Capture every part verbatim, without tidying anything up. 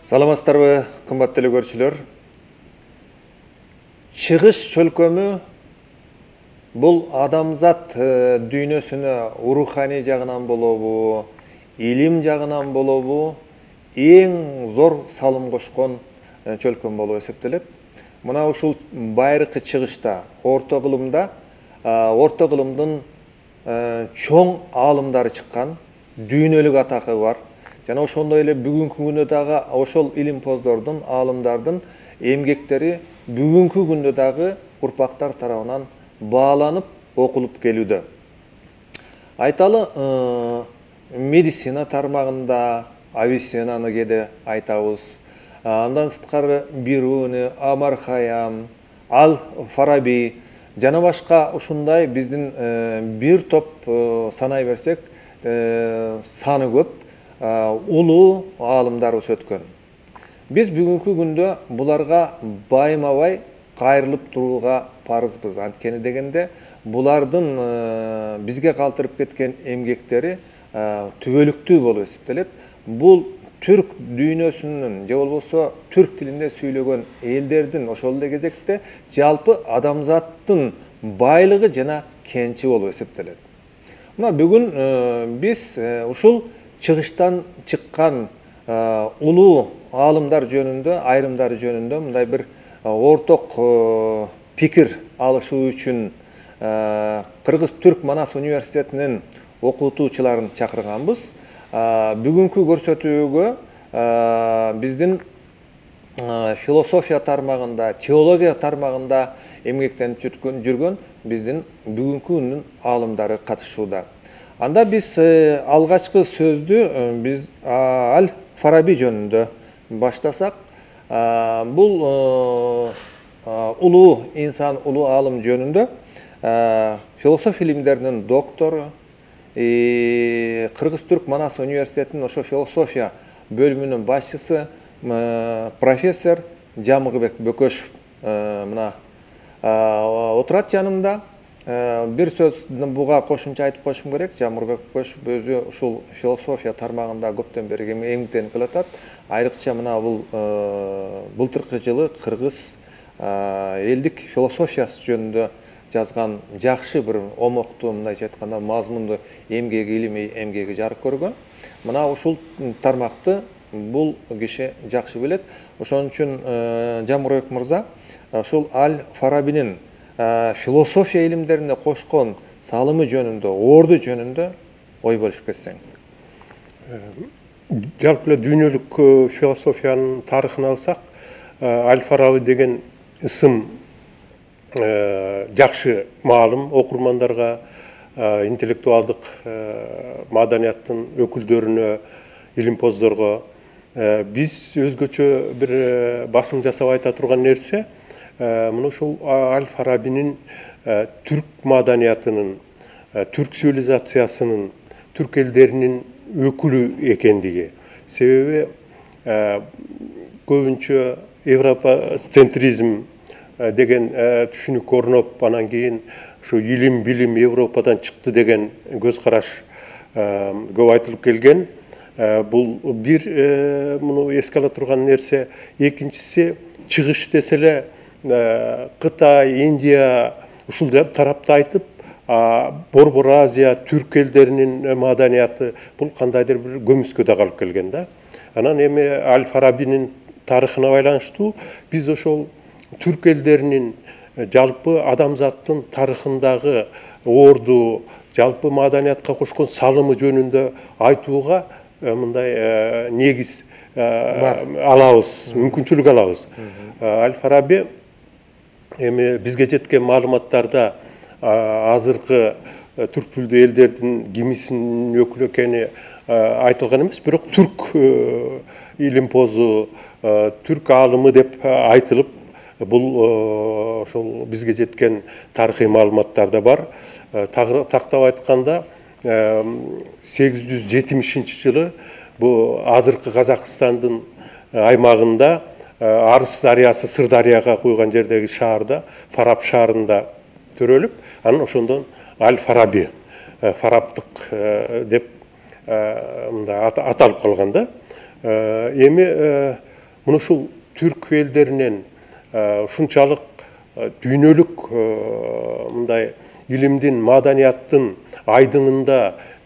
Саламатсыздарбы, кымбаттуу көрүүчүлөр. Чыгыш чөлкөмү бул адамзат дүйнөсүнө руханий жагынан болобу, илим жагынан болобу, эң зор салым кошкон чөлкөм болуп эсептелет. Мына ушул байыркы чыгышта, орто кылымда, орто кылымдын чоң аалымдары чыккан, дүйнөлүк атакы бар. Жана ошондой эле бүгүнкү күндө дагы ошол илимпоздордун, аалымдардын эмгектери бүгүнкү күндө дагы урпактар тарабынан бааланып, окулуп келүүдө. Айталы, медицина тармагында Авиценнаны кээде айтабыз. Андан сырткары Бируни, Амар Хайям, Аль-Фараби жана башка ушундай биздин бир топ санай берсек саны көп улуу аалымдарыбыз өткөн. Биз бүгүнкү күндө буларга байма-бай кайрылып турууга парызбыз. Анткени дегенде булардын бизге калтырып кеткен эмгектери түбөлүктүү болуп эсептелет. Бул түрк дүйнөсүнүн же болбосо түрк тилинде сүйлөгөн элдердин ошол эле кезекте жалпы адамзаттын байлыгы жана кенчи болуп эсептелет. Мына бүгүн биз ушул чыгыштан чыккан улуу аалымдар жөнүндө, айрымдары жөнүндө мындай бир орток пикир алышуу үчүн Кыргыз-Түрк Манас университетинин окутуучуларын чакырганбыз. Бүгүнкү көрсөтүүгө биздин философия тармагында, теология тармагында эмгектенип жүргөн биздин бүгүнкү күндүн аалымдары катышууда. Анда биз алгачкы сөздү биз Аль-Фараби жөнүндө баштасак, бул улуу инсан, улуу аалым жөнүндө философия илимдеринин доктору, Кыргыз-Түрк Манас университетинин ошо философия бөлүмүнүн башчысы профессор Жамырбек Бөкөшев мына отурат жанымда. Бир сөз буга кошумча айтып коюшум керек. Жамырбек Бөкөшев өзү ушул философия тармагында көптөн бери эмгектенип келатат. Айрыкча мына бул былтыркы жылы кыргыз элдик философиясы жөнүндө жазган жакшы бир омоктуу, мындайча айтканда мазмундуу эмгеги, илимий эмгеги жарык көргөн. Мына ушул тармакты бул киши жакшы билет. Ошон үчүн Жамырбек мырза ушул Аль-Фарабинин философия илимдерине кошкон салымы жөнүндө, орду жөнүндө ой бөлүшүп кетсең. Жалпы эле дүйнөлүк философиянын тарыхын алсак, Аль-Фараби деген ысым жакшы маалым окурмандарга, интеллектуалдык маданияттын өкүлдөрүнө, илимпоздорго. Биз өзгөчө бир басым жасап айта турган нерсе мына ушул Аль-Фарабинин түрк маданиятынын, түрк цивилизациясынын, түрк элдеринин өкүлү экендиги. Себеби көбүнчө европоцентризм деген түшүнүк орноп, анан кийин ушу илим, билим Европадан чыкты деген көз караш көп айтылып келген. Бул бир муну эске ала турган нерсе. Экинчиси, чыгыш десе эле Кытай, Индия ушул тарапты айтып, Борбор Азия, түрк элдеринин маданияты бул кандайдыр бир көмүскөдө калып келген да. Анан эми Аль-Фарабинин тарыхына байланыштуу биз ошол түрк элдеринин жалпы адамзаттын тарыхындагы орду, жалпы маданиятка кошкон салымы жөнүндө айтууга мындай негиз алабыз, мүмкүнчүлүк алабыз. Аль-Фараби эми бизге жеткен маалыматтарда азыркы түрк тилдүү элдердин кимисинин өкүлү экени айтылган эмес, бирок түрк илимпозу, түрк аалымы деп айтылып, бул ошол бизге жеткен тарыхый маалыматтарда бар. Тактап айтканда сегиз жүз жетимишинчи жылы бу азыркы Казакстандын аймагында Арыс дарыясы Сырдарыяга куйган жердеги шаарда, Фараб шаарында төрөлүп, анан ошондон Аль-Фараби, фарабтык деп мындай аталып калган да. Эми мына ушул түрк элдеринен ушунчалык дүйнөлүк мындай илимдин, маданияттын айдыңында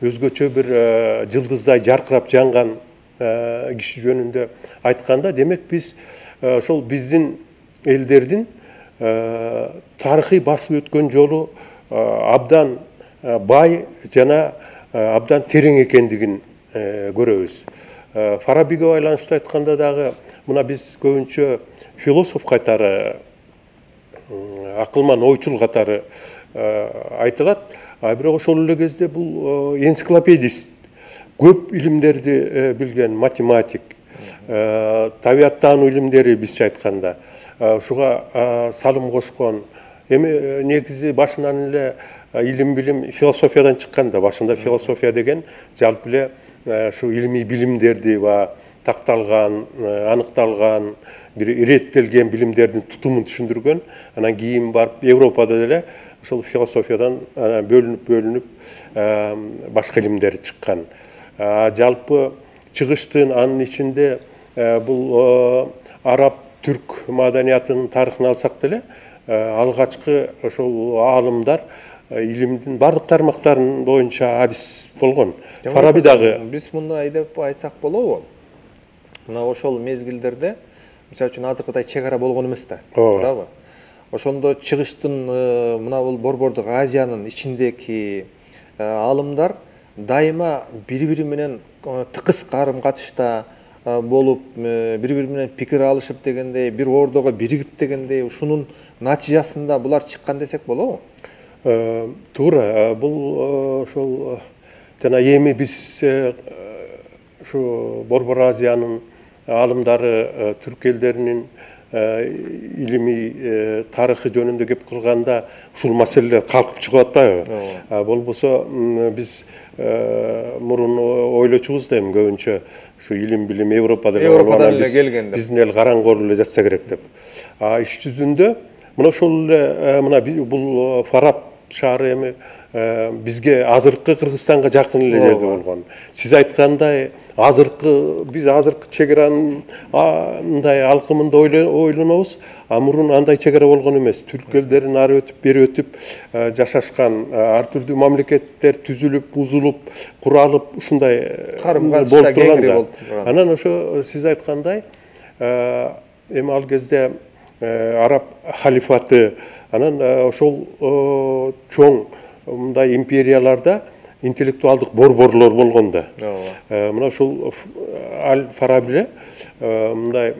өзгөчө бир жылдыздай жаркырап жанган киши жөнүндө айтканда, демек биз ошол биздин элдердин тарыхый басып өткөн жолу абдан бай жана абдан терең экендигин көрөбүз. Фарабиге байланыштуу айтканда дагы мына биз көбүнчө философ катары, акылман ойчул катары айтылат, а бирок ошол эле кезде бул энциклопедист, көп илимдерди билген математик, табияттануу илимдери бизче айтканда ушуга салым кошкон. Эми негизи башынан эле илим билим философиядан чыккан да. Башында философия деген жалпы эле ушу илимий билимдерди ва такталган, аныкталган, бир иреттелген билимдердин тутумун түшүндүргөн. Анан кийин барып Европада деле ошол философиядан бөлүнүп бөлүнүп башка илимдер чыккан. Жалпы чыгыштын анын ичинде бул араб түрк маданиятынын тарыхын алсак деле алгачкы ошол аалымдар илимдин бардык тармактарын боюнча адис болгон. Фараби дагы биз мындай деп айтсак болобу? Мына ошол мезгилдерде, мисалы үчүн азыркыдай чек ара болгон эмес да, туурабы? Ошондо чыгыштын мына бул Борбордук Азиянын ичиндеги аалымдар дайыма бири-бири менен тыкыз карым-катышта болуп, бири-бири менен пикир алышып дегендей, бир ордого биригип дегендей, ушунун натыйжасында булар чыккан десек болобу? Туура, бул ошол жана эми биз ушу Борбор Азиянын аалымдары түрк элдеринин илимий тарыхы жөнүндө кеп кылганда ушул маселелер калкып чыгып атпайбы? Болбосо биз мурун ойлочубуз да, эми көбүнчө ушу илим билим Европадан эле келген деп, биздин эл караңгы эле жатса керек деп. А иш жүзүндө мына ошол эле мына бул Фараб шаары эми бизге азыркы Кыргызстанга жакын эле жерде болгон. Сиз айткандай, азыркы биз азыркы чек аранын мындай алкымында ойлонобуз, а мурун андай чек ара болгон эмес. Түрк элдерин ары өтүп, бери өтүп жашашкан, ар түрдүү мамлекеттер түзүлүп, бузулуп, куралып, ушундай карым-катышта кеңири болуп турган. Анан ошо сиз айткандай, эми ал кезде араб халифаты, анан ошол чоң мындай империяларда интеллектуалдык борборлор болгон да. Мына ушул Аль-Фараби мындай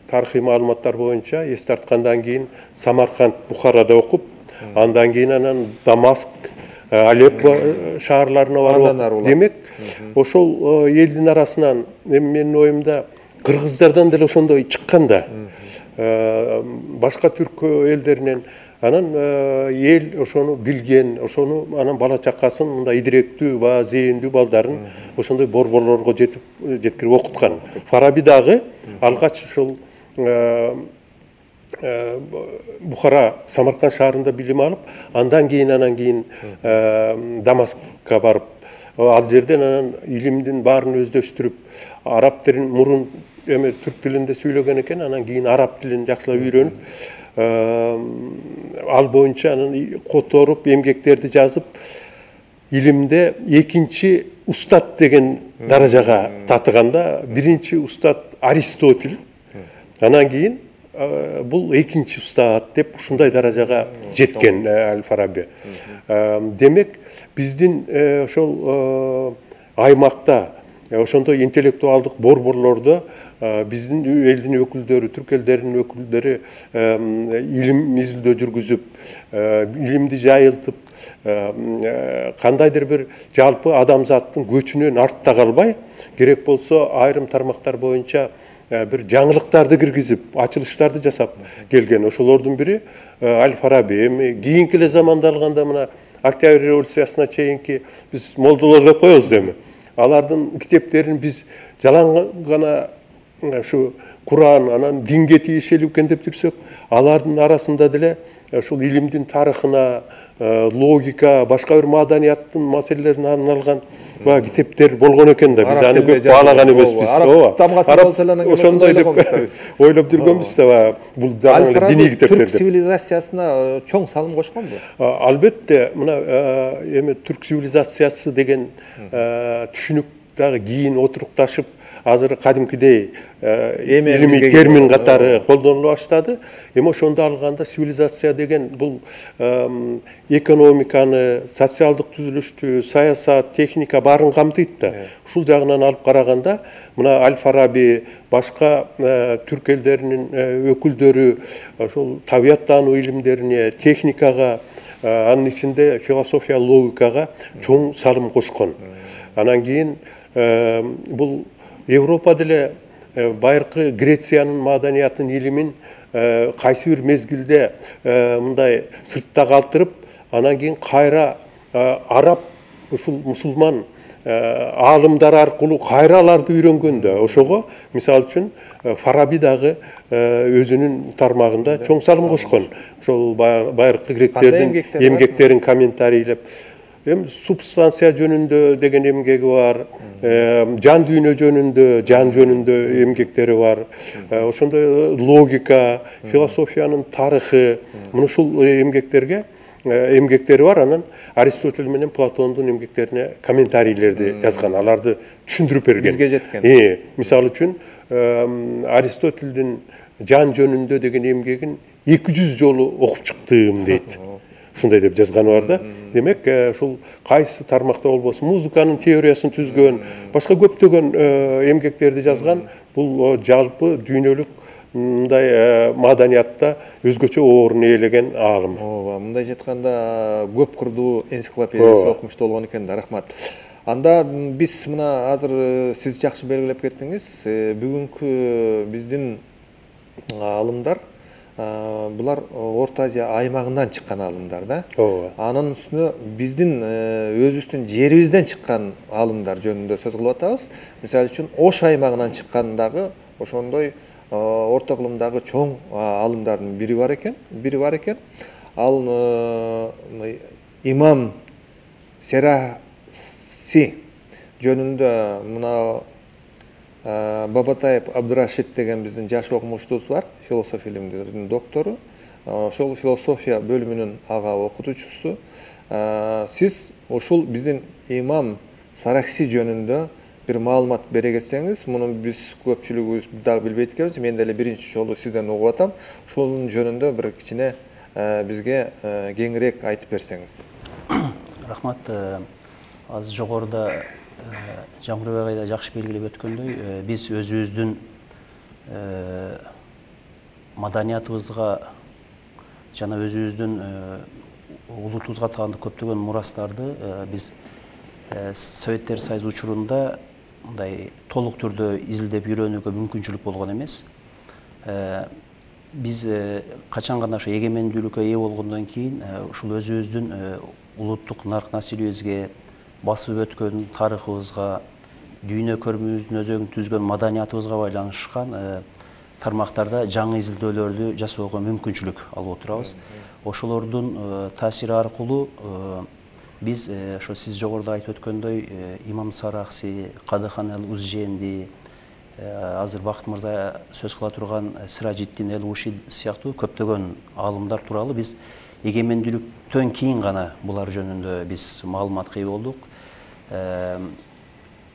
тарыхый маалыматтар боюнча эс тарткандан кийин Самарканд, Бухарада окуп, андан кийин анан Дамаск, Алеппо шаарларына барып, демек ошол элдин арасынан эми менин оюмда кыргыздардан деле ошондой чыккан да. Башка түрк элдеринен анан эл ошону билген, ошону анан бала чакасын мындай идиректүү ба зээндүү балдарын ошондой борборлорго жетип жеткирип окуткан. Фараби дагы алгач ошол Бухара, Самарканд шаарында билим алып, андан кийин анан кийин Дамаскка барып, ал жерден анан илимдин баарын өздөштүрүп, араб тилин мурун эми түрк тилинде сүйлөгөн экен, анан кийин араб тилин жакшылап үйрөнүп, ал боюнча анан которуп, эмгектерди жазып, илимде экинчи устат деген даражага татыганда, биринчи устат Аристотель, анан кийин бул экинчи устат деп ушундай даражага жеткен Аль-Фараби. Демек, биздин ошол аймакта ошондой интеллектуалдык борборлордо биздин элдин өкүлдөрү, түрк элдеринин өкүлдөрү илим изилдөө жүргүзүп, илимди жайылтып, кандайдыр бир жалпы адамзаттын көчүнөн артта калбай, керек болсо айрым тармактар боюнча бир жаңылыктарды киргизип, ачылыштарды жасап келген. Ошолордун бири Аль-Фараби. Эми кийинки эле заманда алганда мына Октябрь революциясына чейинки биз молдолор деп коебуз эми. Алардын китептерин биз жалаң гана ушу Куран, анан динге тиешелүү экен деп жүрсөк, алардын арасында деле ушул илимдин тарыхына, логика, башка бир маданияттын маселелерине арналган баягы китептер болгон экен да. Биз аны көп баалаган эмеспиз. Араб тамгасында болсо эле анан ошондой деп ойлоп жүргөнбүз да. Бул дагы диний китептер деп. Түрк цивилизациясына чоң салым кошконбу? Албетте, мына эме түрк цивилизациясы деген түшүнүк дагы кийин отурукташып, азыр кадимкидей илимий термин катары колдонула баштады. Эми ошондо алганда цивилизация деген бул экономиканы, социалдык түзүлүштү, саясат, техника баарын камтыйт да. Ушул жагынан алып караганда, мына Аль-Фараби, башка түрк элдеринин өкүлдөрү ошол табияттануу илимдерине, техникага, анын ичинде философия, логикага чоң салым кошкон. Анан кийин бул Европа деле байыркы Грециянын маданиятын, илимин кайсы бир мезгилде мындай сыртта калтырып, анан кийин кайра араб, ушул мусулман аалымдар аркылуу кайра аларды үйрөнгөн да. Ошого мисалы үчүн Фараби дагы өзүнүн тармагында чоң салым кошкон. Ошол байыркы гректердин эмгектерин комментарийлеп, эми субстанция жөнүндө деген эмгеги бар, жан дүйнө жөнүндө, жан жөнүндө эмгектери бар. Ошондой логика, философиянын тарыхы, мына ушул эмгектерге эмгектери бар. Анан Аристотель менен Платондун эмгектерине комментарийлерди жазган, аларды түшүндүрүп берген. Бизге жеткен. Мисалы үчүн Аристотельдин жан жөнүндө деген эмгегин эки жүз жолу окуп чыктым дейт. Ушундай деп жазганы бар да. Демек, ушул кайсы тармакта болбосун, музыканын теориясын түзгөн, башка көптөгөн эмгектерди жазган, бул жалпы дүйнөлүк мындай маданиятта өзгөчө орун ээлеген аалым. Ооба, мындай жетканда көп кырдуу энциклопедиясы окумуштуу болгон экен да, рахмат. Анда биз мына азыр сиз жакшы белгилеп кеттиңиз, бүгүнкү биздин аалымдар булар Орто Азия аймагынан чыккан аалымдар да. Анын үстүнө биздин өзүбүздүн жерибизден чыккан аалымдар жөнүндө сөз кылып атабыз. Мисалы үчүн Ош аймагынан чыккан дагы ошондой орто кылымдагы чоң аалымдардын бири бар экен, бири бар экен. Ал имам Сераси жөнүндө мына Бабатаев Абдурашид деген биздин жаш окумуштубуз бар, философия илимдеринин доктору. Ошол философия бөлүмүнүн ага окутуучусу. Сиз ушул биздин имам Саракси жөнүндө бир маалымат бере кетсеңиз, муну биз көпчүлүгүбүз дагы билбейт экенбиз. Мен деле биринчи жолу сизден угуп атам. Ошонун жөнүндө бир кичине бизге кеңирээк айтып берсеңиз. Рахмат. Азыр жогоруда Жамгырбек айда жакшы белгилеп өткөндөй, биз өзүбүздүн маданиятыбызга жана өзүбүздүн улутубузга таандык көптөгөн мурастарды биз Советтер Союзу учурунда мындай толук түрдө изилдеп үйрөнүүгө мүмкүнчүлүк болгон эмес. Биз качан гана ошо эгемендүүлүккө ээ болгондон кийин ушул өзүбүздүн улуттук нарк населебизге, басып өткөн тарыхыбызга, дүйнө көрүүбүздүн өзөгүн түзгөн маданиятыбызга байланышкан тармактарда жаңы изилдөөлөрдү жасоого мүмкүнчүлүк алып отурабыз. Ошолордун таасири аркылуу биз ошо сиз жогоруда айтып өткөндөй имам Саракси, Кадыхан эл-Узженди, азыр Бакыт мырза сөз кыла турган Сиражиддин эл-Уши сыяктуу көптөгөн аалымдар тууралуу биз эгемендүүлүктөн кийин гана булар жөнүндө биз маалыматка ээ болдук.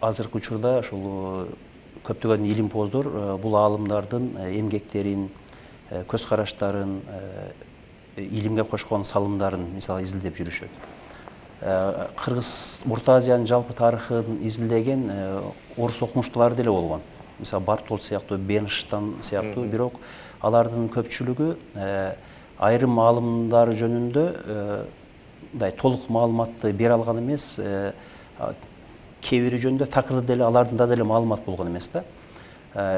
Азыркы учурда ушул көптөгөн илимпоздор бул аалымдардын эмгектерин, көз караштарын, илимге кошкон салымдарын мисалы изилдеп жүрүшөт. Кыргыз Орто Азиянын жалпы тарыхын изилдеген орус окумуштуулары деле болгон. Мисалы Бартолд сыяктуу, Бенштам сыяктуу, бирок алардын көпчүлүгү айрым аалымдар жөнүндө мындай толук маалыматты бере алган эмес, кээ бири жөнүндө такыр деле алардын да деле маалымат болгон эмес да.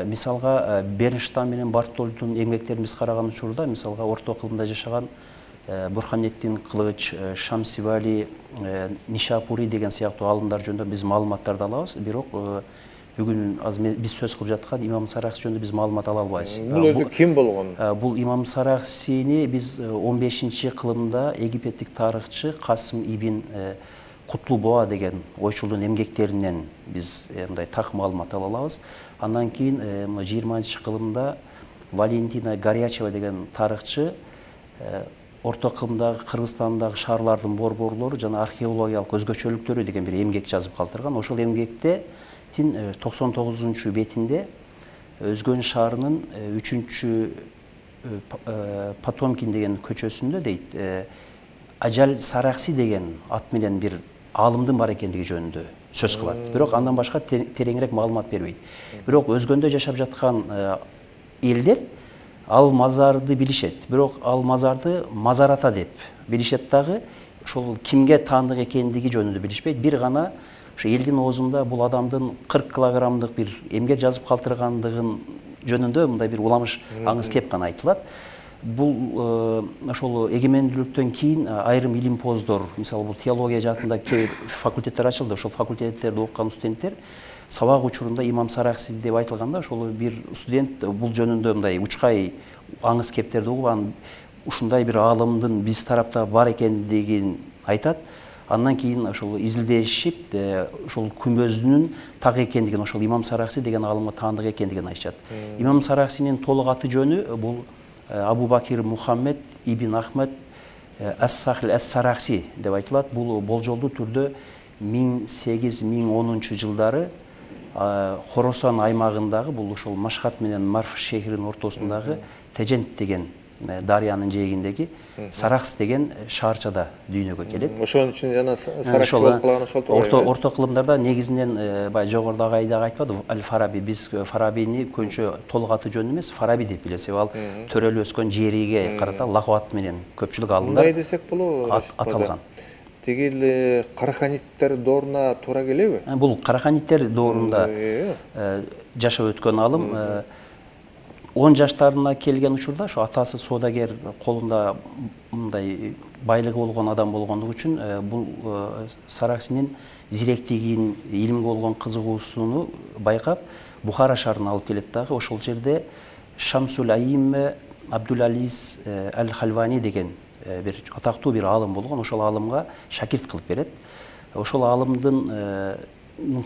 Мисалга Бенштам менен Бартолддун эмгектерин биз караган учурда, мисалга орто кылымда жашаган Бурханеттин Кылыч, Шамсивали, Нишапури деген сыяктуу аалымдар жөнүндө биз маалыматтарды алабыз, бирок бүгүн азыр биз сөз кылып жаткан имам Саракси жөнүндө биз маалымат ала албайбыз. Бул өзү ким болгон? Бул имам Сараксини биз он бешинчи кылымда египеттик тарыхчы Касым ибн Кутлубоа деген ойчулдун эмгектеринен биз мындай так маалымат ала алабыз. Андан кийин жыйырманчы кылымда Валентина Горячева деген тарыхчы орто кылымдагы Кыргызстандагы шаарлардын борборлору жана археологиялык өзгөчөлүктөрү деген бир эмгек жазып калтырган. Ошол эмгекте токсон тогузунчу бетинде Өзгөн шаарынын үчүнчү Потомкин деген көчөсүндө дейт Ажал Саракси деген ат менен бир аалымдын бар экендиги жөнүндө сөз кылат. Бирок андан башка тереңирээк маалымат бербейт. Бирок Өзгөндө жашап жаткан элдер ал мазарды билишет. Бирок ал мазарды Мазарата деп билишет дагы, ошол кимге таандык экендиги жөнүндө билишпейт. Бир гана ошо элдин оозунда бул адамдын кырк килограммдык бир эмгек жазып калтыргандыгын жөнүндө мындай бир уламыш аңыз кеп гана айтылат. Бул ошол эгемендүүлүктөн кийин айрым илимпоздор, мисалы бул теология жаатында кээ бир факультеттер ачылды. Ошол факультеттерде окуган студенттер сабак учурунда имам Саракси деп айтылганда, ошол бир студент бул жөнүндө мындай учкай аңыз кептерди угуп, анан ушундай бир аалымдын биз тарапта бар экендигин айтат. Андан кийин ошол изилдешип, ошол күмбөздүнүн так экендигин, ошол имам Саракси деген аалымга таандык экендигин айтышат. Имам Сараксинин толук аты жөнү бул Абу Бакир Мухаммед ибн Ахмед Ас-Сахил Ас-Саракси деп айтылат. Бул болжолдуу түрдө миң сегиз миң онунчу жылдары Хорасан аймагындагы, бул ошол Машхат менен Марф шээринин ортосундагы Тежент деген дарыянын жээгиндеги Саракс деген шаарчада дүйнөгө келет. Ошон үчүн жана Саракси болуп калган ошол тургай. Орто кылымдарда негизинен баягы жогорудагы айдагы айтпады Аль-Фараби, биз Фарабини көбүнчө толук аты жөнү эмес Фараби деп билет. Себеби ал төрөлүп өскөн жериге карата лакап менен көпчүлүк алымдар мындай десек болобу аталган. Тиги эле Караханиттер дооруна туура келеби? Бул Караханиттер доорунда жашап өткөн алым. он жаштарына келген учурда ошо атасы соодагер, колунда мындай байлыгы болгон адам болгондугу үчүн бул Сараксинин зиректигин, илимге болгон кызыгуусуну байкап Бухара шаарына алып келет дагы. Ошол жерде Шамсул Аимме Абдул-Алис Аль-Хальвани деген бир атактуу бир аалым болгон. Ошол аалымга шакирт кылып берет. Ошол аалымдын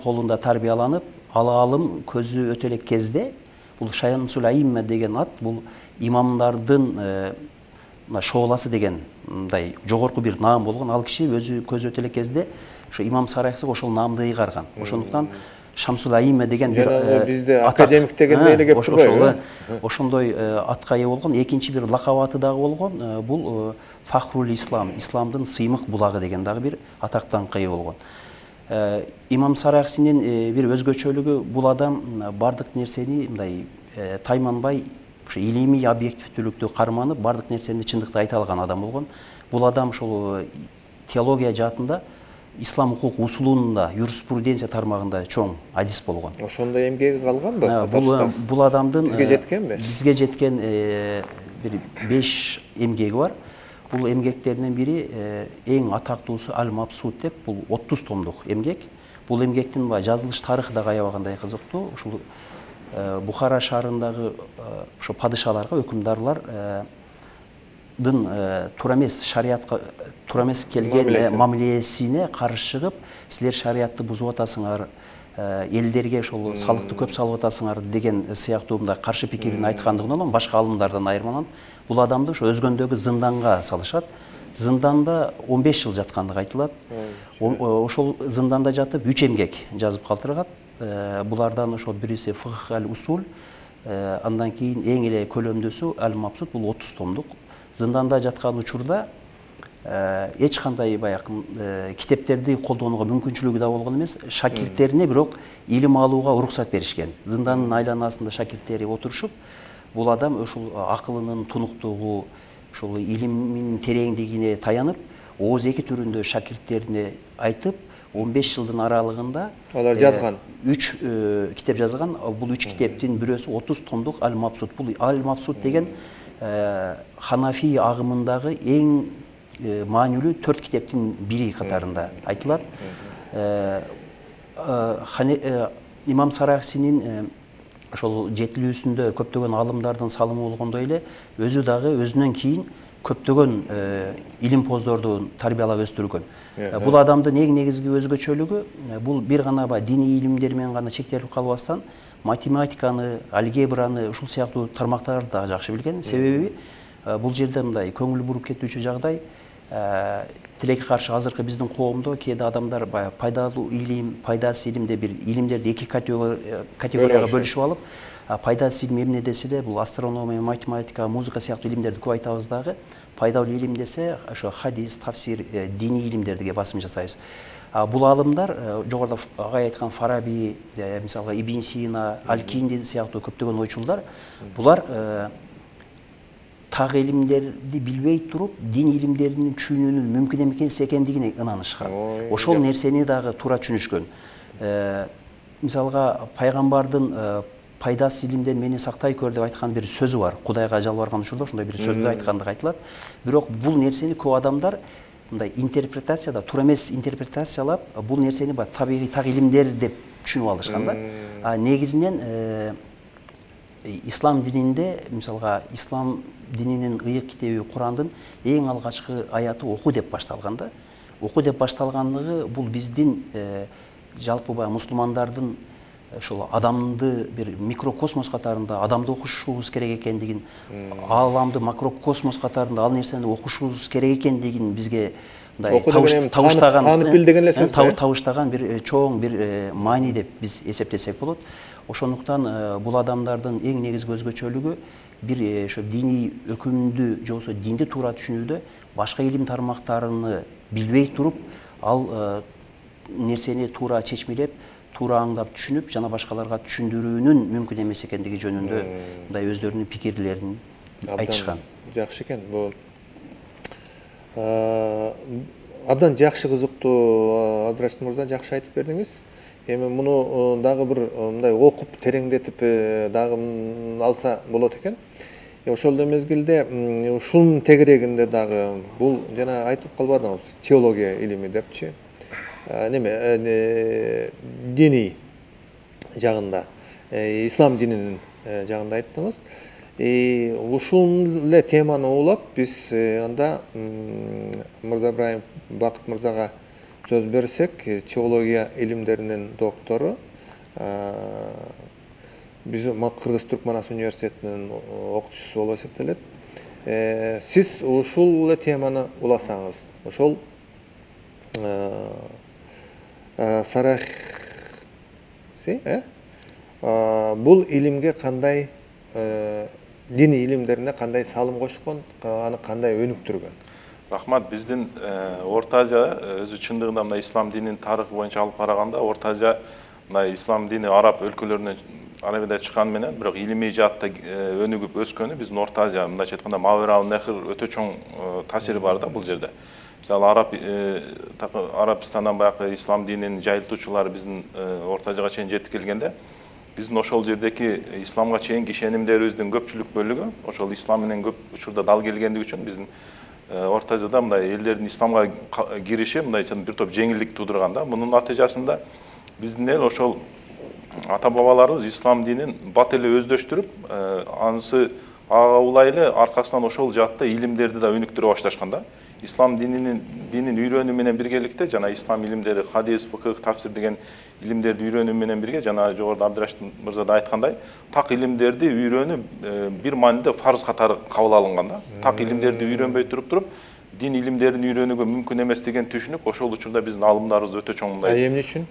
колунда тарбияланып, ал аалым көзү өтө элек кезде бул Шамсул Аимме деген ат бул имамдардын шооласы деген мындай жогорку бир наам болгон. Ал киши өзү көзү өтө элек кезде ошо имам Сараксига ошол наамды ыйгарган. Ошондуктан Шамсул Аимме деген бир бизде академик дегенде эле кеп турбайбы? Ошондой атка ээ болгон. Экинчи бир лакап аты дагы болгон. Бул Фахрул Ислам, исламдын сыймык булагы деген дагы бир атактанга ээ болгон. Имам Сараксинин бир өзгөчөлүгү, бул адам бардык нерсени мындай тайманбай, ошо илимий объективдүүлүктү карманып, бардык нерсени чындыкты айта алган адам болгон. Бул адам ошол теология жаатында, ислам укук усулунда, юриспруденция тармагында чоң адис болгон. Ошондой эмгеги калганбы? Бул бул адамдын бизге жеткенби? Бизге жеткен бир беш эмгеги бар. Бул эмгектеринин бири эң атактуусу Аль-Мабсут деп, бул отуз томдук эмгек. Бул эмгектин жазылыш тарыхы дагы аябагандай кызыктуу. Ушул Бухара шаарындагы ошо падышаларга, өкүмдарлардын туура эмес шариатка туура эмес келген мамилесине каршы чыгып, силер шариатты бузуп атасыңар, элдерге ошол салыкты көп салып атасыңар деген сыяктуу мындай каршы пикирин айткандыгынан башка алымдардан айырмаланып, бул адамды ошо Өзгөндөгү зынданга салышат. Зынданда он беш жыл жаткандыгы айтылат. Ошол зынданда жатып үч эмгек жазып калтыргат. Булардан ошол бириси Фикх аль-Усул, андан кийин эң эле көлөмдүүсү Аль-Мабсут, бул отуз томдук. Зынданда жаткан учурда эч кандай баягы китептерди колдонууга мүмкүнчүлүгү да болгон эмес. Шакирттерине бирок илим алууга уруксат беришкен. Зынданын айланасында шакирттери отурушуп, бул адам ошол акылынын тунуктугу, ошол илиминин тереңдигине таянып, ооз эки түрүндө шакирттерине айтып, он беш жылдын аралыгында алар жазган. үч китеп жазган. Бул үч китептин бирөөсү отуз томдук Аль-Мабсут. Бул Аль-Мабсут деген Ханафи агымындагы эң маанилүү төрт китептин бири катарында айтылат. имам Сарахсинин ошол жетилүүсүндө көптөгөн алымдардын салымы болгондой эле өзү дагы өзүнөн кийин көптөгөн илимпоздорду тарбиялап өстүргөн. Бул адамдын эң негизги өзгөчөлүгү бул бир гана диний илимдер менен гана чектелип калбастан математиканы, алгебраны, ушул сыяктуу тармактарды да жакшы билген. Себеби бул жерде мындай көңүл буруп кетүүчү жагдай, тилекке каршы азыркы биздин коомдо кээде адамдар баягы пайдалуу илим, пайдасыз илим деп бир илимдерди эки категорияга бөлүшүп алып, пайдасыз илим эмне десе эле бул астрономия, математика, музыка сыяктуу илимдерди көп айтабыз дагы. Пайдалуу илим десе ошо хадис, тафсир, диний илимдерге басым жасайбыз. Бул алымдар жогоруда агай айткан Фараби, мисалга Ибн Сина, Аль-Кинди сыяктуу көптөгөн ойчулдар, булар так илимдерди билбей туруп дин илимдерин түшүнүүнүн мүмкүн эмес экендигине ынанышкан. Ошол нерсени дагы туура түшүнүшкөн. Мисалга пайгамбардын пайдасыз илимден мени сактай көр деп айткан бир сөзү бар. Кудайга жалбарган учурда ошондой бир сөздү айткандыгы айтылат. Бирок бул нерсени көп адамдар мындай интерпретацияда туура эмес интерпретациялап, бул нерсени баягы табигый так илимдер деп түшүнүп алышкан да. А негизинен ислам дининде, мисалга ислам дининин ыйык китеби Курандын эң алгачкы аяты оку деп башталган да. Оку деп башталгандыгы бул биздин жалпы баягы мусулмандардын ошол адамды бир микрокосмос катарында адамды окушубуз керек экендигин, ааламды макрокосмос катарында ал нерсени окушубуз керек экендигин бизге мындай табыштаган, таанып бил деген эле сөз, табыштаган бир чоң бир маани деп биз эсептесек болот. Ошондуктан бул адамдардын эң негизги өзгөчөлүгү бир ошо диний өкүмдү же болбосо динди туура түшүнүүдө башка илим тармактарыны билбей туруп, ал нерсени туура чечмелеп, туура аңдап түшүнүп, жана башкаларга түшүндүрүүнүн мүмкүн эмес экендиги жөнүндө мындай өздөрүнүн пикирлерин айтышкан. Жакшы экен. Бул абдан жакшы кызыктуу, Абдрашид мырза, жакшы айтып бердиңиз. Эми муну дагы бир мындай окуп тереңдетип дагы алса болот экен. Ошол эле мезгилде ушунун тегерегинде дагы бул жана айтып калбадыңыз, теология илими депчи. Неме диний жагында, ислам дининин жагында айттыңыз. Ушул эле теманы улап биз анда Мырза Ибраим Бакыт мырзага сөз берсек, теология илимдеринин доктору, биз Кыргыз Түркманас университетинин окутуучусу болуп эсептелет. Сиз ушул эле теманы уласаңыз, ошол Сарахси, бул илимге кандай, диний илимдерине кандай салым кошкон, аны кандай өнүктүргөн? Рахмат. Биздин Орто Азия өзү чындыгында мына ислам дининин тарыхы боюнча алып караганда, Орто Азия мына ислам дини араб өлкөлөрүнөн Арабияда чыккан менен, бирок илимий жаатта өнүгүп өскөнү биздин Орто Азия, мындайча айтканда Мавирал Нехр өтө чоң таасири бар да бул жерде. Мисалы араб Арабистандан баягы ислам дининин жайылтуучулары биздин Орто Азияга чейин жетип келгенде, биздин ошол жердеки исламга чейинки ишенимдерибиздин көпчүлүк бөлүгү ошол ислам менен көп учурда дал келгендиги үчүн биздин Орто Азияда мындай элдердин исламга кириши мындайча бир топ жеңилдик туудурган да. Мунун натыйжасында биздин эл ошол ата бабаларыбыз ислам динин бат эле өздөштүрүп, анысы ага улай эле аркасынан ошол жаатта илимдерди да өнүктүрө башташкан да. Ислам дининин динин үйрөнүү менен биргеликте жана ислам илимдери, хадис, фыкых, тафсир деген илимдерди үйрөнүү менен бирге, жана жогоруда Абдрашид мырза да айткандай, так илимдерди үйрөнүү бир мааниде фарз катары кабыл алынган да. Так илимдерди үйрөнбөй туруп туруп, дин илимдерин үйрөнүүгө мүмкүн эмес деген түшүнүк ошол учурда биздин алымдарыбыз өтө чоң мындай. Эмне үчүн?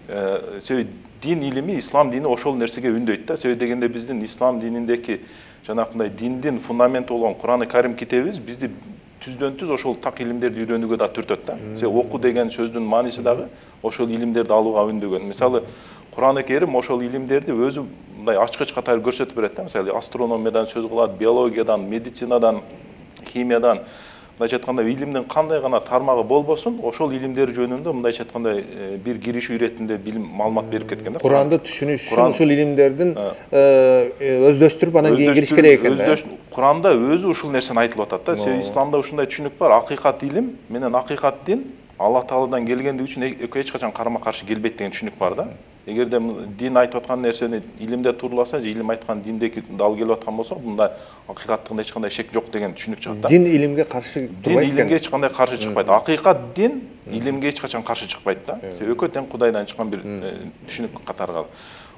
Себеби дин илими, ислам дини ошол нерсеге үндөйт да. Себеби дегенде биздин ислам дининдеки жанакындай диндин фундаменти болгон Куран-ы Карим китебибиз бизди түздөн түз ошол так илимдерди үйрөнүүгө да түртөт да. Себеби оку деген сөздүн мааниси дагы ошол илимдерди алууга үндөгөн. Мисалы Куран-ы Карим ошол илимдерди өзү мындай ачкыч катары көрсөтүп берет да. Мисалы астрономиядан сөз кылат, биологиядан, медицинадан, химиядан, мындайча айтканда илимдин кандай гана тармагы болбосун, ошол илимдер жөнүндө мындайча айтканда бир киришүү иретинде билим маалымат берип кеткен да. Куранды түшүнүш үчүн ушул илимдердин өздөштүрүп анан кийин кириш керек экен да. Куранда өзү ушул нерсени айтылып атат да. Себеби исламда ушундай түшүнүк бар: акыйкат илим менен акыйкат дин Алла Тааладан келгендиги үчүн экөө эч качан карама каршы келбейт деген түшүнүк бар да. Эгерде дин айтып аткан нерсени илимде турласа же илим айткан диндеги дал келип аткан болсо, мында акыйкаттыгында эч кандай шек жок деген түшүнүк чыгат да. Дин илимге каршы турбайт. Дин илимге эч кандай каршы чыкпайт. Акыйкат дин илимге эч качан каршы чыкпайт да. Себеби экөө тең Кудайдан чыккан бир түшүнүк катары калат.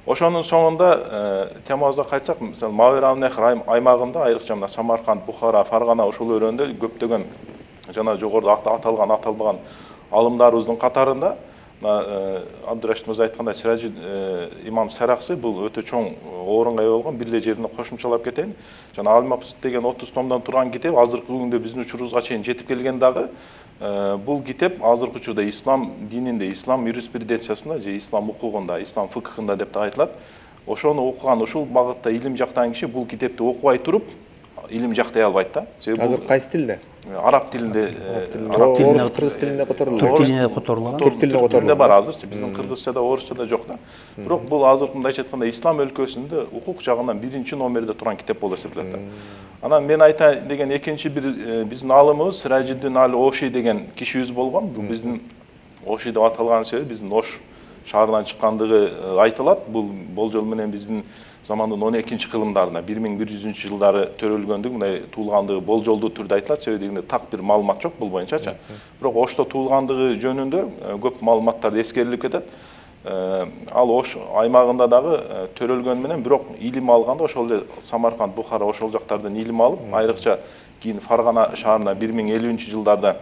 Ошонун соңунда темабызга кайтсак, мисалы Мавераннахр аймагында, айрыкча мына Самарканд, Бухара, Фаргана ошол өрөөндө көптөгөн жана жогоруда аталган аталбаган алымдарыбыздын катарында Абдурашид мырза айткандай Сиражи имам Сараксы бул өтө чоң орунга ээ болгон. Бир эле жерине кошумчалап кетейин. Жана Ал-Мабсут деген отуз томдон турган китеп азыркы күндө биздин учурубузга чейин жетип келген дагы. Бул китеп азыркы учурда ислам дининде, ислам юриспруденциясында же ислам укугунда, ислам фыкыхында деп да айтылат. Ошону окуган, ушул багытта илим жактаган киши бул китепти окубай туруп илим жактай албайт да. Себеби азыр кайсы тилде? Араб тилинде, араб тилинде, кыргыз тилинде которулат. Түрк тилинде которулган. Түрк тилинде которулат. Бар азырчы, биздин кыргызчада, орусчада жок да. Бирок бул азыр мындайча айтканда ислам өлкөсүндө укук жагынан биринчи номерде турган китеп болуп эсептелет да. Анан мен айтайын деген экинчи бир биздин алымыбыз Сиражиддин Ал-Оши деген кишибиз болгон. Бул биздин Оши деп аталган себеби биздин Ош шаарынан чыккандыгы айтылат. Бул болжол менен биздин замандын он экинчи кылымдарында бир миң бир жүзүнчү жылдары төрөлгөндүгү, мындай туулгандыгы болжолдуу түрдө айтылат. Себеби дегенде так бир маалымат жок бул боюнчачы. Бирок Ошто туулгандыгы жөнүндө көп маалыматтар эскерилип кетет. Ал Ош аймагында дагы төрөлгөн менен бирок илим алганда ошол эле Самарканд, Бухара ошол жактардан илим алып, айрыкча кийин Фаргана шаарына бир миң элүүнчү жылдарда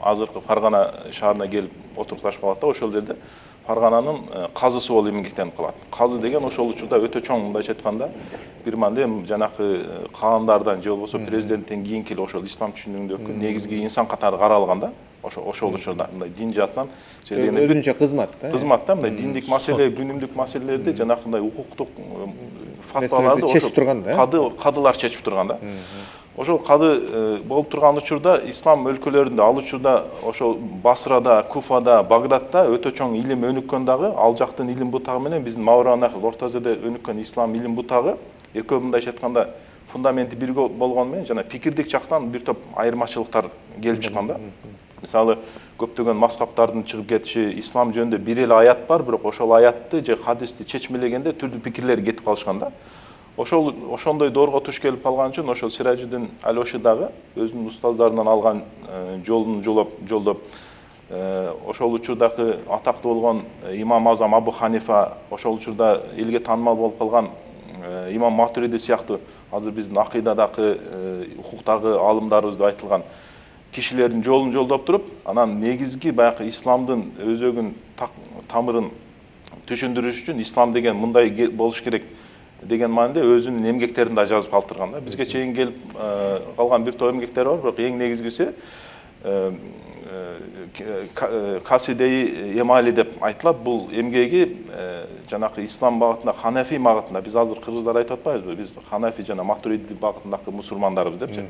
азыркы Фаргана шаарына келип отурукташып калат да. Ошол жерде Фаргананын казысы болуп эмгектенип калат. Казы деген ошол учурда өтө чоң, мындайча айтканда, бир мындай жанакы каандардан же болбосо президенттен кийинки ошол ислам түшүнүгүндөгү негизги инсан катары каралган да. Ошол ошол учурда мындай дин жаатынан өзүнчө кызмат да. Кызмат да, мындай диндик маселе, күнүмдүк маселелерди жанакындай укуктук фатваларды чечип турган да. Кады кадылар чечип турган да. Ошол кады болуп турган учурда ислам өлкөлөрүндө, ал учурда ошол Басрада, Куфада, Багдадта өтө чоң илим өнүккөн дагы. Ал жактын илим бутагы менен биздин Мавераннахр Орто Азияда өнүккөн ислам илим бутагы экөө мындайча айтканда фундаменти бир болгон менен жана пикирдик жактан бир топ айырмачылыктар келип чыккан да. Мисалы, көптөгөн мазхабтардын чыгып кетиши, ислам жөнүндө бир эле аят бар, бирок ошол аятты же хадисти чечмелегенде түрдүү пикирлер кетип калышкан да. Ошол ошондой доорго туш келип калган үчүн ошол Сиражиддин Ал-Оши дагы өзүнүн устаздарынан алган жолун жолоп жолдоп ошол учурдагы атактуу болгон имам Азам Абу Ханифа, ошол учурда элге таанымал болуп калган имам Матуриди сыяктуу азыр биздин акыйдадагы, укуктагы алымдарыбыз деп айтылган кишилердин жолун жолдоп туруп, анан негизги баягы исламдын өзөгүн тамырын түшүндүрүш үчүн ислам деген мындай болуш керек деген маанидө өзүнүн эмгектерин да жазып калтырган да. Бизге чейин келип калган бир топ эмгектер бар, бирок эң негизгиси Касидеи Эмали деп айтылат. Бул эмгеги жанакы ислам багытында, Ханафи багытында, биз азыр кыргыздар айтып атпайбызбы, биз Ханафи жана Матуриди багытындагы мусулмандарбыз депчи.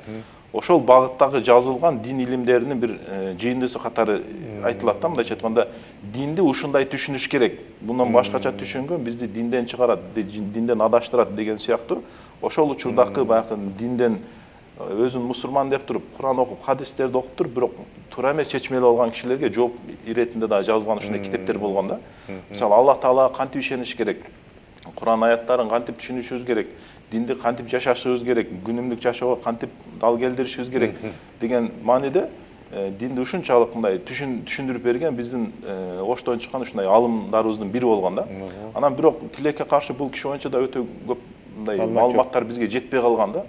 Ошол багыттагы жазылган дин илимдеринин бир жыйындысы катары айтылат да. Мындайча айтканда, динди ушундай түшүнүш керек. Мындан башкача түшүнгөн бизди динден чыгарат, динден адаштырат деген сыяктуу. Ошол учурдагы баягы динден өзүн мусулман деп туруп, Куран окуп, хадистерди окуп туруп, бирок туура эмес чечмелеп алган кишилерге жооп иретинде да жазылган ушундай китептер болгон да. Мисалы, Аллах Таалага кантип ишениш керек, Куран аяттарын кантип түшүнүшүбүз керек, динди кантип жашашыбыз керек, күнүмдүк жашоого кантип дал келтиришибиз керек деген мааниде динди ушунчалык мындай түшүндүрүп берген биздин Оштон чыккан ушундай алымдарыбыздын бири болгон да. Анан бирок тилекке каршы бул киши боюнча да өтө көп мындай маалыматтар бизге жетпей калган да.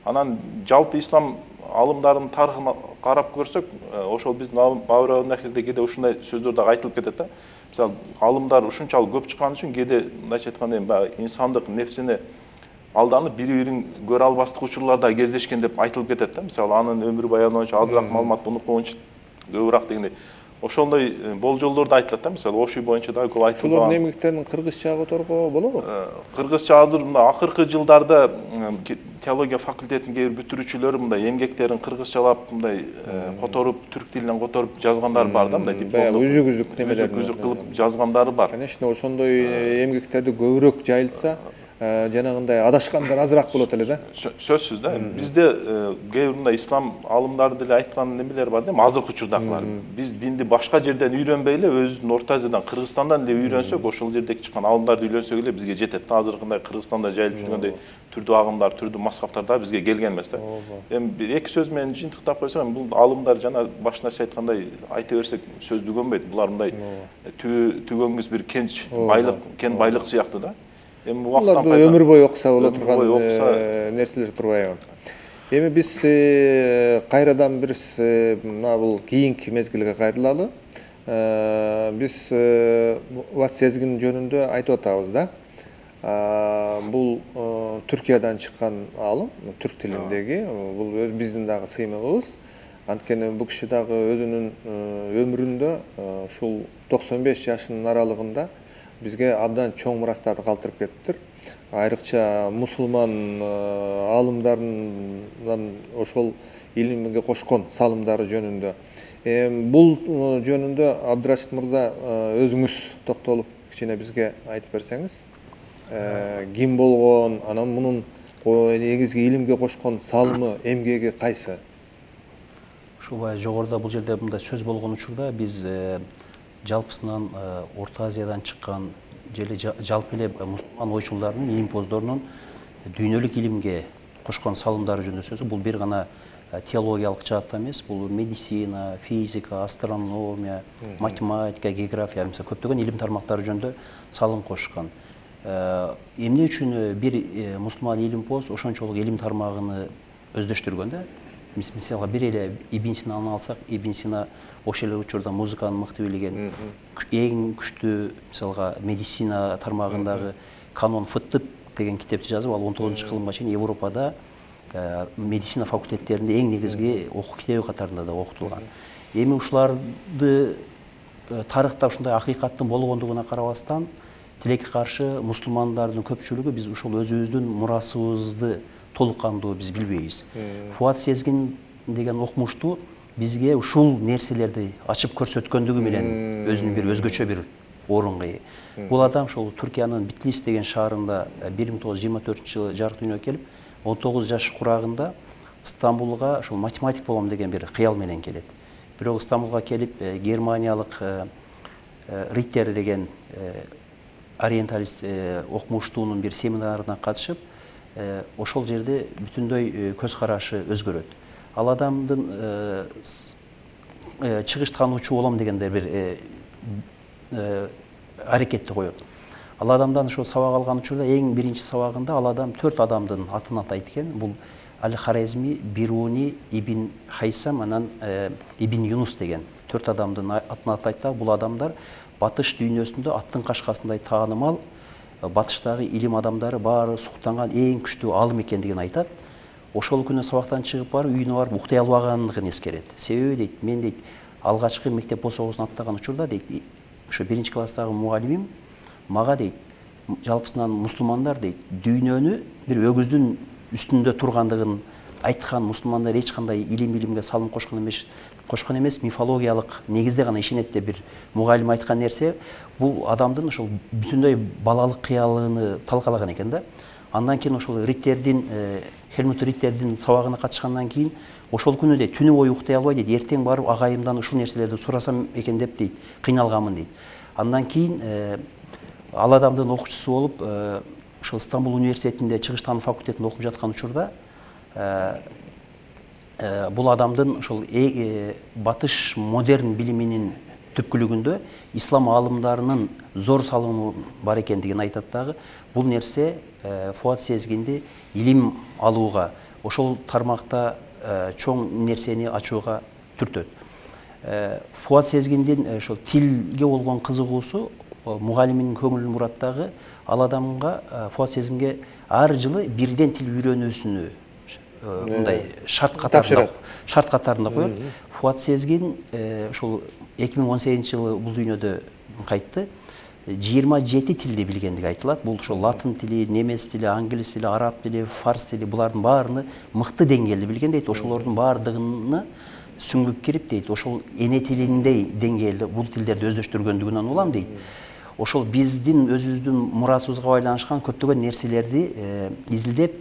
Анан жалпы ислам алымдарынын тарыхын карап көрсөк, ошол биздин Мавераннахрде кээде ушундай сөздөр дагы айтылып кетет да. Мисалы, алымдар ушунчалык көп чыккан үчүн кээде мындайча айтканда баягы инсандык нефсине алданып бири-бирин көрө албастык учурлар да кездешкен деп айтылып кетет да. Мисалы, анын өмүр баяны боюнча азыраак маалымат, бунуку боюнча көбүрөөк дегендей. Ошондой болжолдор да айтылат да. Мисалы, Оши боюнча да көп айтылган. Ошолордун эмгектерин кыргызчага которууга болобу? Кыргызча азыр мына акыркы жылдарда теология факультетинин кээ бир бүтүрүүчүлөрү мындай эмгектерин кыргызчалап мындай которуп, түрк тилинен которуп жазгандар бар да, мындай дипломдук. Үзүк-үзүк немелер үзүк кылып жазгандары бар. Конечно, ошондой эмгектерди көбүрөөк жайылса, жанагындай адашкандар азыраак болот эле да. Сөзсүз да. Бизде кээ бир ислам алымдары деле айткан немелер бар да, азыркы учурдагылар. Биз динди башка жерден үйрөнбөй эле өзүбүздүн Орто Азиядан, Кыргызстандан эле үйрөнсөк, ошол жердеги чыккан алымдарды үйлөнсөк эле бизге жетет. Азыркындай Кыргызстанда жайылып жүргөндөй түрдүү агымдар, түрдүү мазхабтар да бизге келген эмес да. Эми бир эки сөз менен жыйынтыктап койсом, бул алымдар жана башында сиз айткандай айта берсек сөз түгөнбөйт. Булар мындай түгөнгүс бир кенч байлык, кен байлык сыяктуу да. Эми убактан кайра өмүр бою окуса боло турган нерселер турбайбы? Эми биз кайрадан бир мына бул кийинки мезгилге кайрылалы. Биз Fuat Sezgin жөнүндө айтып атабыз да. Бул Түркиядан чыккан алым, түрк тилиндеги, бул биздин дагы сыймыгыбыз. Анткени бул киши дагы өзүнүн өмүрүндө ушул токсон беш жашынын аралыгында бизге абдан чоң мурастарды калтырып кетиптир. Айрыкча мусулман аалымдарынан ошол илимге кошкон салымдары жөнүндө. Бул жөнүндө Абдырашид мырза өзүңүз токтолуп кичине бизге айтып берсеңиз, ким болгон, анан мунун негизги илимге кошкон салымы, эмгеги кайсы? Ушул баягы жогоруда бул жерде мындай сөз болгон учурда биз жалпысынан Орто Азиядан чыккан жели жалпы эле мусулман ойчулдарынын, илимпоздорунун дүйнөлүк илимге кошкон салымдары жөнүндө сөз. Бул бир гана теологиялык жааттан эмес, бул медицина, физика, астрономия, математика, география, мисалы көптөгөн илим тармактары жөнүндө салым кошкон. Эмне үчүн бир мусулман илимпоз ошончолук илим тармагын өздөштүргөн да? Мисалга бир эле Ибн Синаны алсак, Ибн Сина ошол эле учурда музыканы мыкты билген, эң күчтүү мисалга медицина тармагындагы канон фыттып деген китепти жазып, ал он тогузунчу кылымга чейин Европада медицина факультеттеринде эң негизги окуу китеби катарында да окутулган. Эми ушуларды тарыхта ушундай акыйкаттын болгондугуна карабастан, тилекке каршы мусулмандардын көпчүлүгү биз ушул өзүбүздүн мурасыбызды толук кандуу биз билбейбиз. Fuat Sezgin деген окумуштуу бизге ушул нерселерди ачып көрсөткөндүгү менен өзүнүн бир өзгөчө бир орунга ээ. Бул адам ошол Түркиянын Битлис деген шаарында бир миң тогуз жүз жыйырма төртүнчү жылы жарык дүйнөгө келип, он тогуз жаш курагында Стамбулга ошол математик болом деген бир кыял менен келет. Бирок Стамбулга келип германиялык Риттер деген ориенталист окумуштуунун бир семинарына катышып, ошол жерде бүтүндөй көз карашы өзгөрөт. Ал адамдын чыгыш таануучу болом дегенде бир аракетти коет. Ал адамдан ошо сабак алган учурда эң биринчи сабагында ал адам төрт адамдын атын атайт экен. Бул Аль-Хорезми, Бируни, Ибн Хайсам, анан Ибн Юнус деген төрт адамдын атын атайт да. Бул адамдар батыш дүйнөсүндө аттын кашкасындай таанымал, батыштагы илим адамдары баары суктанган эң күчтүү алым экендигин айтат. Ошол күнү сабактан чыгып барып, үйүнө барып уктай албагандыгын эскерет. Себеби дейт, мен дейт, алгачкы мектеп босогусун аттаган учурда дейт, ошо биринчи класстагы мугалимим мага дейт, жалпысынан мусулмандар дейт, дүйнөнү бир өгүздүн үстүндө тургандыгын айткан, мусулмандар эч кандай илим илимге салым кошкон эмес, кошкон эмес, мифологиялык негизде гана ишенет деп бир мугалим айткан нерсе, бул адамдын ошол бүтүндөй балалык кыялыны талкалаган экен да. Андан кийин ошол Риттердин, Хельмут Риттердин сабагына катышкандан кийин ошол күнү дейт, түнү бою уктай албай дейт, эртең барып агайымдан ушул нерселерди сурасам экен деп дейт, кыйналганмын дейт. Андан кийин ал адамдын окуучусу болуп, ошол Стамбул университетинде чыгыш таануу факультетинде окуп жаткан учурда бул адамдын ошол батыш модерн билиминин түпкүлүгүндө ислам аалымдарынын зор салымы бар экендигин айтат дагы. Бул нерсе Fuat Sezginди илим алууга, ошол тармакта чоң нерсени ачууга түртөт. Fuat Sezgindин ошол тилге болгон кызыгуусу мугалиминин көңүлүн бурат дагы. Ал адамга, Fuat Sezginге ар жылы бирден тил үйрөнүүсүнү мындай шарт катарында шарт катарында коет. Fuat Sezgin ошол эки миң он сегизинчи жылы бул дүйнөдө кайтты. жыйырма жети тилди билгендиги айтылат. Бул ошол латын тили, немес тили, англис тили, араб тили, фарс тили, булардын баарыны мыкты деңгээлде билген дейт. Ошолордун баардыгына сүңгүп кирип дейт, ошол эне тилиндей деңгээлде бул тилдерди өздөштүргөндүгүнөн улам дейт. ошол биздин өзүбүздүн мурасыбызга байланышкан көптөгөн нерселерди изилдеп,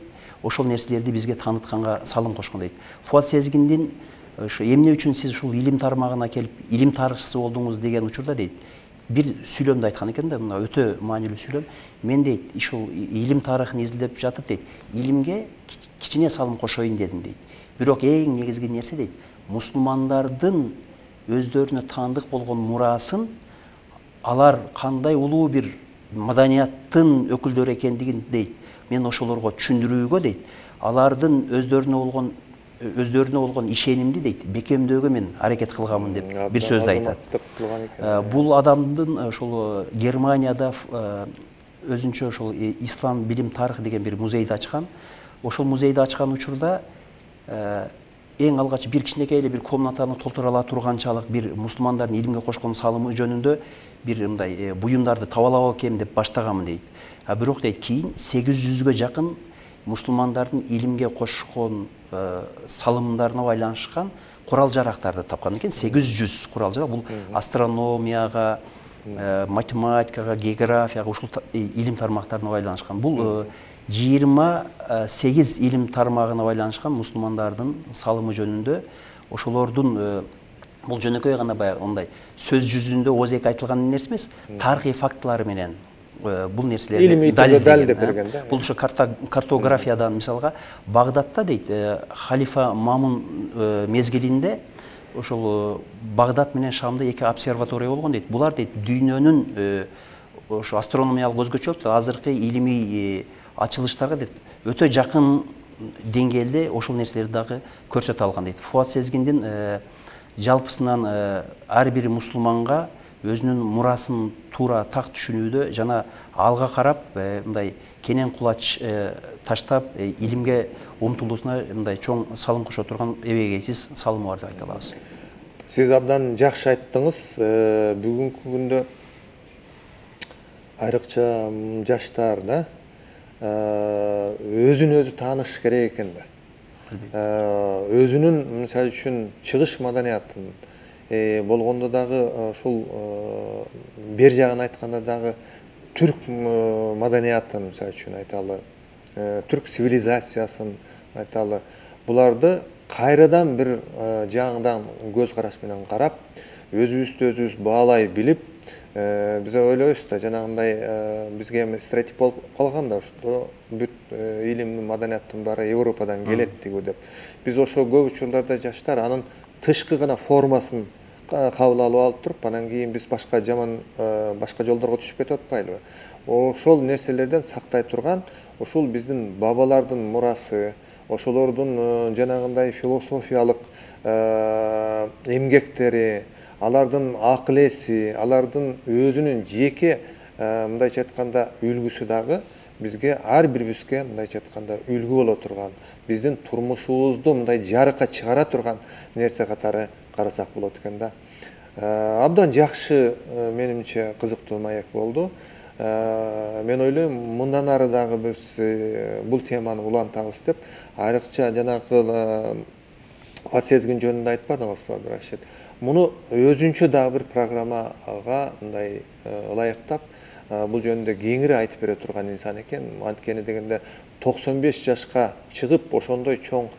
ошол нерселерди бизге таанытканга салым кошкон дейт. Фуат Сезгиндин ошо эмне үчүн сиз ушул илим тармагына келип, илим тарыхчысы болдуңуз деген учурда дейт, бир сүйлөмдү айткан экен да, мына өтө маанилүү сүйлөм. Мен дейт, ушул илим тарыхын изилдеп жатып дейт, илимге кичине салым кошоюн дедим дейт. Бирок эң негизги нерсе дейт, мусулмандардын өздөрүнө таандык болгон мурасын, алар кандай улуу бир маданияттын өкүлдөрү экендигин дейт, мен ошолорго түшүндүрүүгө дейт, алардын өздөрүнө болгон өздөрүнө болгон ишенимди дейт, бекемдөөгө мен аракет кылганмын деп бир сөздү айтат. Бул адамдын ошол Германияда өзүнчө ошол ислам билим тарыхы деген бир музейди ачкан. Ошол музейди ачкан учурда эң алгач бир кичинекей эле бир комнатаны толтура ала турганчалык бир мусулмандардын илимге кошкон салымы жөнүндө бир мындай буюмдарды таба алабы экенмин деп баштаганмын дейт. А бирок дейт, кийин сегиз жүзгө жакын мусулмандардын илимге кошкон салымдарына байланышкан курал жарактарды тапкан экен. сегиз жүз курал жарак. Бул астрономияга, математикага, географияга, ушул илим тармактарына байланышкан. Бул жыйырма сегиз илим тармагына байланышкан мусулмандардын салымы жөнүндө, ошолордун бул жөнөкөй гана баягы мындай сөз жүзүндө ооз-эки айтылган нерсе эмес, тарыхый фактылары менен бул нерселерди далилдеп берген да. Бул ошо картографиядан мисалга Багдадта дейт, халифа Мамун мезгилинде ошол Багдад менен Шамда эки обсерватория болгон дейт. Булар дейт дүйнөнүн ошо астрономиялык өзгөчөлүк, азыркы илимий ачылыштарга дейт өтө жакын деңгээлде ошол нерселерди дагы көрсөтө алган дейт. Фуат Сезгиндин жалпысынан ар бир мусулманга өзүнүн мурасын туура так түшүнүүдө жана алга карап мындай кенен кулач таштап илимге умтулуусуна мындай чоң салым кошо турган эбегейсиз салымы бар деп айта алабыз. Сиз абдан жакшы айттыңыз. Бүгүнкү күндө айрыкча жаштар да өзүн өзү тааныш керек экен да. Өзүнүн мисалы үчүн чыгыш маданиятын болгондо дагы ушул бер жагын айтканда дагы түрк маданиятын мисалы үчүн айталы, түрк цивилизациясын айталы, буларды кайрадан бир жаңыдан көз караш менен карап, өзүбүздү өзүбүз баалай билип, биз ойлойбуз да, жанагындай бизге эми стереотип болуп калган да, ошо бүт илим, маданияттын баары Европадан келет дегүү деп. Биз ошо көп учурларда жаштар анын тышкы гана формасын кабыл алып алып туруп, анан кийин биз башка жаман башка жолдорго түшүп кетип атпайлыбы? Ошол нерселерден сактай турган, ушул биздин бабалардын мурасы, ошолордун жанагындай философиялык эмгектери, алардын акыл эси, алардын өзүнүн жеке мындайча айтканда үлгүсү дагы бизге ар бирибизге мындайча айтканда үлгү боло турган, биздин турмушубузду мындай жарыкка чыгара турган нерсе катары карасак болот экен да. Абдан жакшы, менимче кызыктуу маек болду. Мен ойлойм, мындан ары дагы биз бул теманы улантабыз деп, айрыкча жанагы Фуат Сезгин жөнүндө айтпадыңызбы, Рашид? Муну өзүнчө дагы бир программага мындай ылайыктап, бул жөнүндө кеңири айтып бере турган инсан экен. Анткени дегенде токсон беш жашка чыгып, ошондой чоң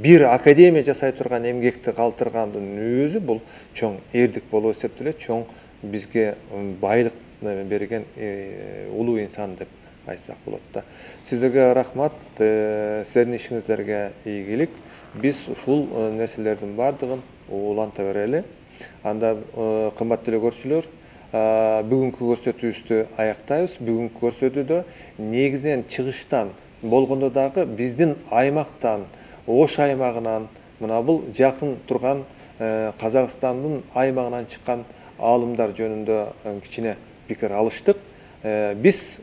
бир академия жасай турган эмгекти калтыргандын өзү бул чоң эрдик болуп эсептелет, чоң бизге байлык берген улуу инсан деп айтсак болот да. Сиздерге рахмат, сиздердин ишиңиздерге ийгилик. Биз ушул нерселердин баардыгын уланта берели. Анда кымбаттуу эле көрүүчүлөр, бүгүнкү көрсөтүүбүздү аяктайбыз. Бүгүнкү көрсөтүүдө негизинен чыгыштан болгондо дагы биздин аймактан, Ош аймагынан, мына бул жакын турган Казакстандын аймагынан чыккан аалымдар жөнүндө кичине пикир алыштык. Биз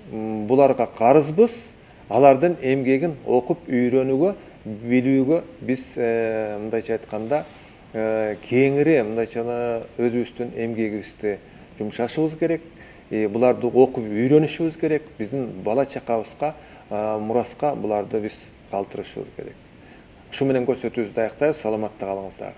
буларга карызбыз, алардын эмгегин окуп үйрөнүүгө, билүүгө биз мындайча айтканда кеңири мындайча өзүбүздүн эмгегибизди жумшашыбыз керек. Буларды окуп үйрөнүшүбүз керек. Биздин бала чакабызга, мураска буларды биз калтырышыбыз керек. Ушу менен көрсөтүүбүздү аяктайбыз. Саламатта калыңыздар.